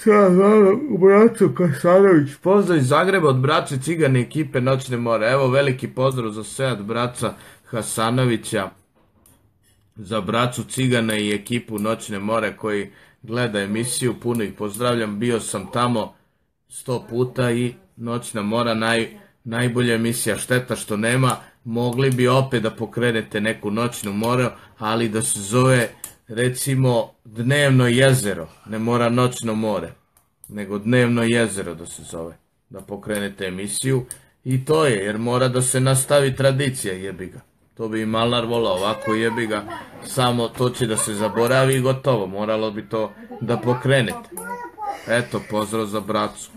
Sad, naravno, braćo Kasanović, pozdrav iz Zagreba od braće Cigane ekipe Noćne more. Evo veliki pozdrav za sve od braća Hasanovića, za braću Cigane i ekipu Noćne more koji gleda emisiju. Puno ih pozdravljam, bio sam tamo 100 puta i Noćna mora najbolja emisija. Šteta što nema, mogli bi opet da pokrenete neku Noćnu moru, ali da se zove recimo Dnevno jezero, ne mora Noćno more, nego Dnevno jezero da se zove, da pokrenete emisiju i to je, jer mora da se nastavi tradicija, jebi ga. To bi i Malnar volao, ovako jebi ga, samo to će da se zaboravi i gotovo, moralo bi to da pokrenete. Eto, pozdrav za bracu.